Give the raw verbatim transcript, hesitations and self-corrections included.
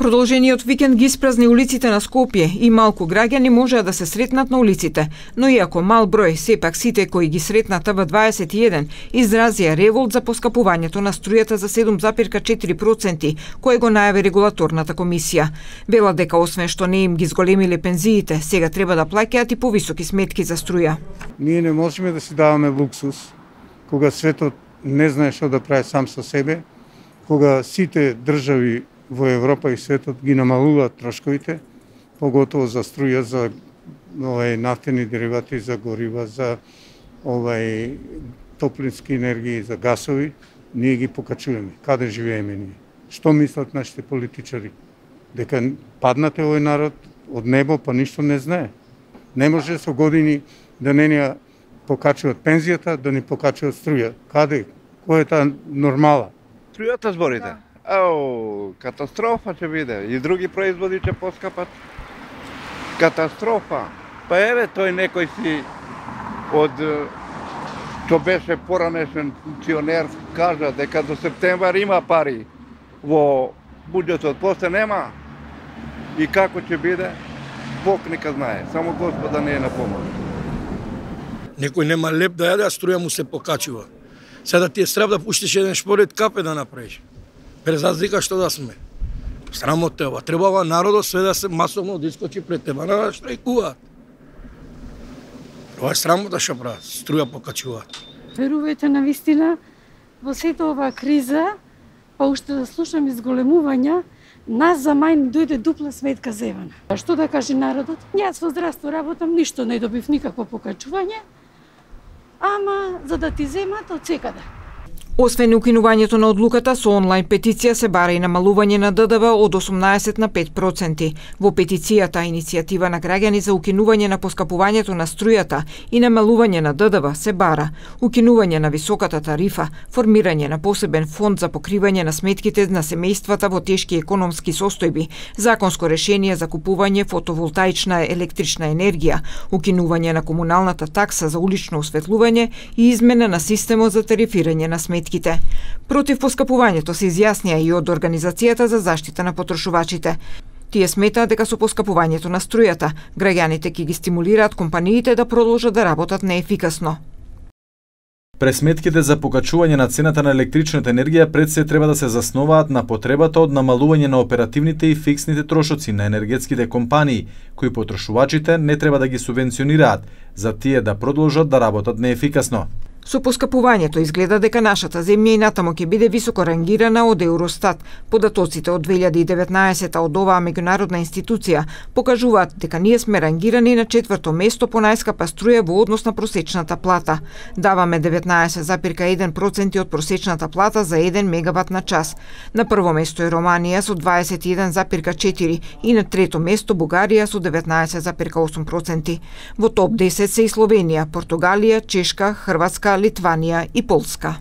Продолжениот викенд ги испразни улиците на Скопје и малку граѓани можеа да се сретнат на улиците, но иако мал број, сепак сите кои ги сретната во дваесет и еден изразија револт за поскапувањето на струјата за седум запирка четири проценти, кое го најави регулаторната комисија. Велат дека освен што не им ги зголемиле пензиите, сега треба да плаќаат и повисоки сметки за струја. Ние не можеме да си даваме луксус кога светот не знае што да прави сам со себе, кога сите држави во Европа и светот ги намалуваат трошковите, поготово за струја, за овај нафтени деривати, за горива, за овај топлински енергии, за гасови, ние ги покачуваме. Каде живееме ние? Што мислат нашите политичари? Дека паднате овој народ од небо, па ништо не знае. Не може со години да не ни покачуваат пензијата, да ни покачуваат струја. Каде? Која е таа нормала? Струјата зборите? Ау, катастрофа ќе биде. И други производи ќе поскапат. Катастрофа. Па еве тој некој си од што беше поранешен функционер кажа дека до септември има пари во буџетот, после нема. И како ќе биде? Бог нека знае. Само Господа не е на помош. Некој нема леп да јаде, а струја му се покачува. Сега ти е страв да пуштиш еден шпоред капе да направиш. Без разлика што да сме. Срамота ова. Требава народот све да се масовно да искочи пред тебе да штрајкуваат. Ова е срамота што прават. Струја покачуваат. Верувајте на вистина, во сета оваа криза, па уште да слушам изголемувања, нас за мај дојде дупла сметка зевана. А што да каже народот? Јас во здравство работам, ништо не добив никакво покачување, ама за да ти земат од секаде. Освен укинувањето на одлуката, со онлайн петиција се бара и намалување на Д Д В од осумнаесет на пет проценти. Во петицијата иницијатива на граѓани за укинување на поскапувањето на струјата и намалување на Д Д В се бара укинување на високата тарифа, формирање на посебен фонд за покривање на сметките на семејствата во тешки економски состојби, законско решение за купување фотоволтаична електрична енергија, укинување на комуналната такса за улично осветлување и измена на системот за тарифирање на сметките. Против поскапувањето се изјаснија и од Организацијата за заштита на потрошувачите. Тие сметаат дека со поскапувањето на струјата, граѓаните ќе ги стимулираат компаниите да продолжат да работат неефикасно. Пресметките за покачување на цената на електричната енергија пред се треба да се засноваат на потребата од намалување на оперативните и фиксните трошоци на енергетските компании, кои потрошувачите не треба да ги субвенционираат, за тие да продолжат да работат неефикасно. Со поскапувањето изгледа дека нашата земја и натаму ќе биде високо рангирана од Евростат. Податоците од две илјади и деветнаесета од оваа меѓународна институција покажуваат дека ние сме рангирани на четврто место по најскапа струја во однос на просечната плата. Даваме деветнаесет запирка еден проценти од просечната плата за еден мегават на час. На прво место е Романија со дваесет и еден запирка четири и на трето место Бугарија со деветнаесет запирка осум проценти. Во топ десет се и Словенија, Португалија, Чешка, Хрватска, Литванија и Полска.